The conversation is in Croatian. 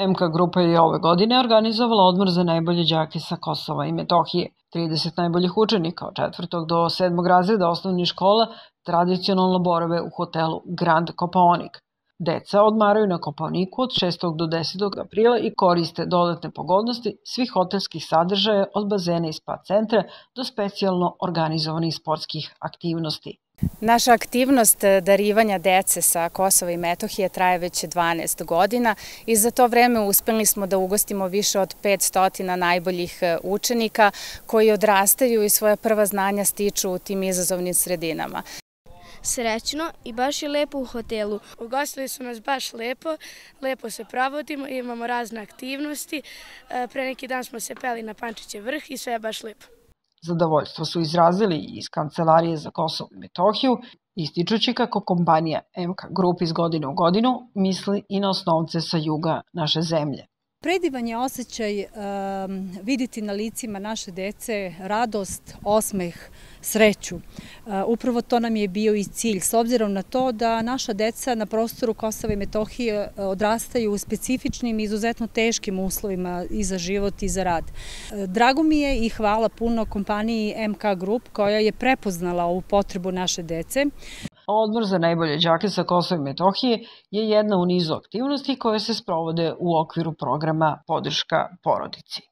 MK grupa je ove godine organizovala odmor za najbolje đake sa Kosova i Metohije. 30 najboljih učenika od 4. do 7. razreda osnovnih škola tradicionalno borave u hotelu Grand Kopaonik. Deca odmaraju na Kopaoniku od 6. do 10. aprila i koriste dodatne pogodnosti svih hotelskih sadržaja od bazena i spa centra do specijalno organizovanih sportskih aktivnosti. Naša aktivnost darivanja dece sa Kosova i Metohije traje već 12 godina i za to vreme uspeli smo da ugostimo više od 500 najboljih učenika koji odrastaju i svoja prva znanja stiču u tim izazovnim sredinama. Srećno i baš je lepo u hotelu. Ugostili su nas baš lepo se provodimo, imamo razne aktivnosti. Pre neki dan smo se peli na Pančićev vrh i sve je baš lepo. Zadovoljstvo su izrazili i iz Kancelarije za Kosovo i Metohiju, ističući kako kompanija MK Group iz godine u godinu misli i na osnovce sa juga naše zemlje. Predivan je osjećaj vidjeti na licima naše dece radost, osmeh, sreću. Upravo to nam je bio i cilj, s obzirom na to da naša deca na prostoru Kosova i Metohije odrastaju u specifičnim i izuzetno teškim uslovima i za život i za rad. Drago mi je i hvala puno kompaniji MK Group koja je prepoznala ovu potrebu naše dece. Odmor za najbolje đake sa Kosova i Metohije je jedna u nizu aktivnosti koje se sprovode u okviru programa Podrška porodici.